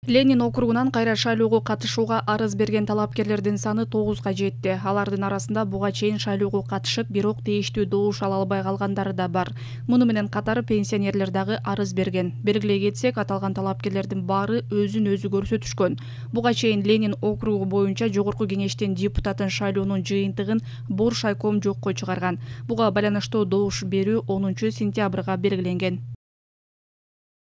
Ленин округунан кайра шайлоого катышууга арыз берген талапкерлердин саны 9га жетти. Алардын арасында буга чейин шайлоого катышып, бирок тийиштүү добуш ала албай калгандары да бар. Муну менен катар пенсионерлер дагы арыз берген. Белгилей кетсек, аталган талапкерлердин баары өзүн өзү көрсөтүшкөн. Буга чейин Ленин округу боюнча Жогорку Кеңештин депутатын шайлоонун жыйынтыгын Боршайком жокко чыгарган. Буга байланыштуу добуш берүү 10 сентябрга белгиленген.